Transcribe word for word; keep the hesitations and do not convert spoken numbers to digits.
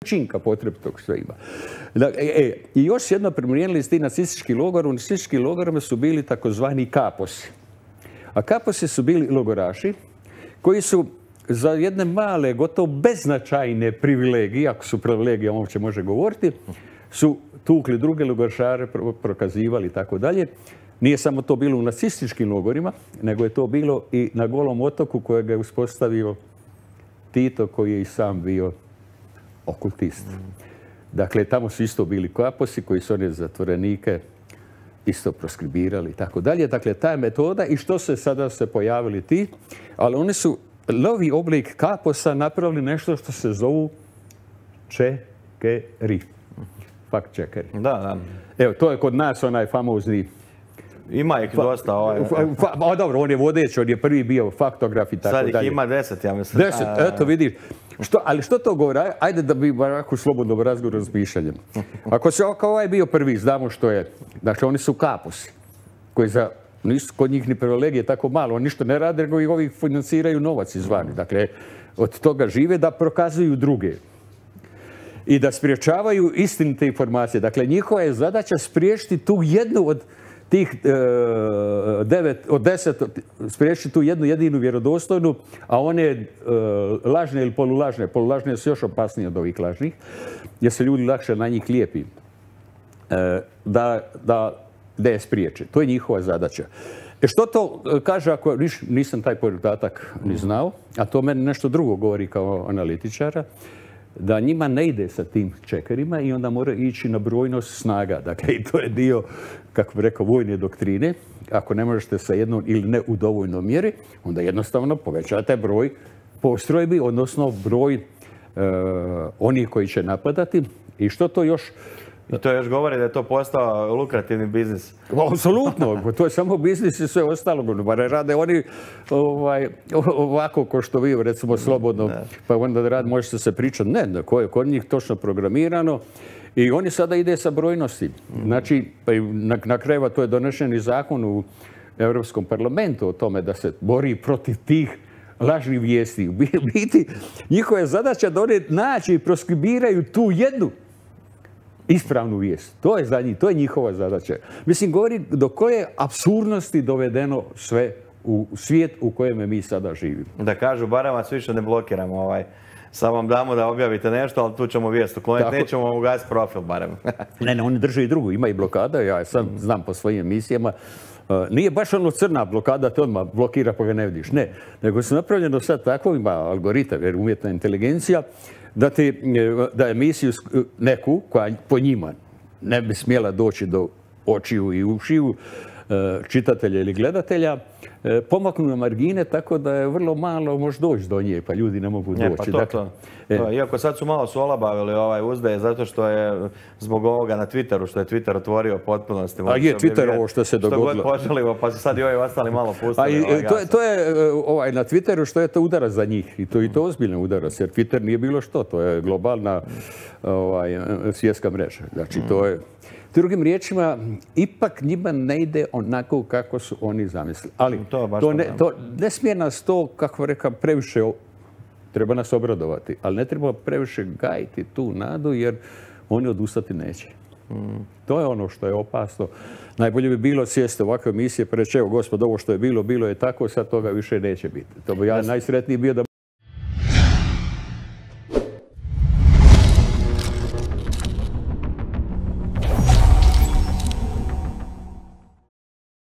činka potrebitog što ima. E, I još jedno primijenili s ti nacistički logor. U nacističkim logorima su bili takozvani kaposi. A kaposi su bili logoraši koji su za jedne male, gotovo beznačajne privilegije, ako su privilegije, on uopće može govoriti, su tukli druge logorašare, prokazivali i tako dalje. Nije samo to bilo u nacističkim logorima, nego je to bilo i na Golom otoku kojeg je uspostavio Tito, koji je i sam bio okultist. Dakle, tamo su isto bili kaposi koji su one zatvorenike isto proskribirali i tako dalje. Dakle, ta je metoda i što se sada se pojavili ti, ali oni su novi oblik kaposa napravili nešto što se zovu čekeri. Fact checkeri. Da, da. Evo, to je kod nas onaj famozni... Ima ih dosta. Ovaj... A dobro, on je vodeć, on je prvi bio faktograf i tako dalje. Sad ih ima deset, ja mislim. Deset, eto vidiš. Što, ali što to govori? Ajde da bi ovako slobodno razgovor razmišljanjem. Ako se kao ovaj bio prvi, znamo što je. Dakle, oni su kaposi, koji za, nisu kod njih ni privilegije tako malo. Oni ništa ne rade, nego ih ovih financiraju novac izvani. Dakle, od toga žive da prokazuju druge. I da spriječavaju istinite informacije. Dakle, njihova je zadaća spriječiti tu jednu od tih e, devet, od deset, spriječiti tu jednu jedinu vjerodostojnu, a one e, lažne ili polulažne. Polulažne su još opasnije od ovih lažnih, jer se ljudi lakše na njih lijepi. E, da, da, da je spriječe. To je njihova zadaća. E što to kaže, ako nisam taj podatak ni znao, a to meni nešto drugo govori kao analitičara, da njima ne ide sa tim čekerima i onda mora ići na brojnost snaga. Dakle, i to je dio, kako bi rekao, vojne doktrine. Ako ne možete sa jednom ili ne u dovoljnoj mjeri, onda jednostavno povećate broj postrojbi, odnosno broj e, onih koji će napadati. I što to još... I to još govori da je to postao lukrativni biznis. Apsolutno, to je samo biznis i sve ostalo. Bar rade oni ovaj, ovako ko što vi, recimo, slobodno, pa onda rad možete se pričati. Ne, ko je kod njih točno programirano. I oni sada ide sa brojnosti. Znači, na, na kraju to je donešen i zakon u Europskom parlamentu o tome da se bori protiv tih lažnih vijesti. U biti, njihova je zadaća da oni naći i proskribiraju tu jednu ispravnu vijest. To je za njih, to je njihova zadaća. Mislim, govori do koje apsurdnosti dovedeno sve u svijet u kojem mi sada živimo. Da kažu, barem vas više ne blokiramo. Ovaj. Samo vam damo da objavite nešto, ali tu ćemo vijest ukloniti. Nećemo vam ugasiti profil, barem. ne, ne, oni drže i drugu. Ima i blokada. Ja sam znam po svojim emisijama. Uh, nije baš ono crna blokada, te odmah blokira pa ga ne vidiš. Ne, nego su napravljeno sad tako, ima algoritam, jer umjetna inteligencija, da, ti, da emisiju neku, koja po njima ne bi smjela doći do očiju i ušiju čitatelja ili gledatelja, pomaknu na margine tako da je vrlo malo može doći do nje, pa ljudi ne mogu doći. Pa to, dakle, to. To. Iako sad su malo su olabavili ovaj uzdaje, zato što je zbog ovoga na Twitteru, što je Twitter otvorio potpunosti. A je Twitter ovo što se dogodilo. Što god poželimo, pa su sad i ovi ostali malo pustili. A i, ovaj to, je, to je ovaj, na Twitteru što je to udarac za njih. I to, i to ozbiljno udarac, jer Twitter nije bilo što. To je globalna ovaj, svjetska mreža. Znači, to je... Drugim riječima, ipak njima ne ide onako kako su oni zamislili. Ali to, to, ne, to ne smije nas to, kako rekao, previše, treba nas obradovati, ali ne treba previše gajiti tu nadu jer oni odustati neće. Mm. To je ono što je opasno. Najbolje bi bilo sjesti ovakve emisije pa reći, evo gospod, ovo što je bilo, bilo je tako, sad toga više neće biti. To bi ja najsretniji bio da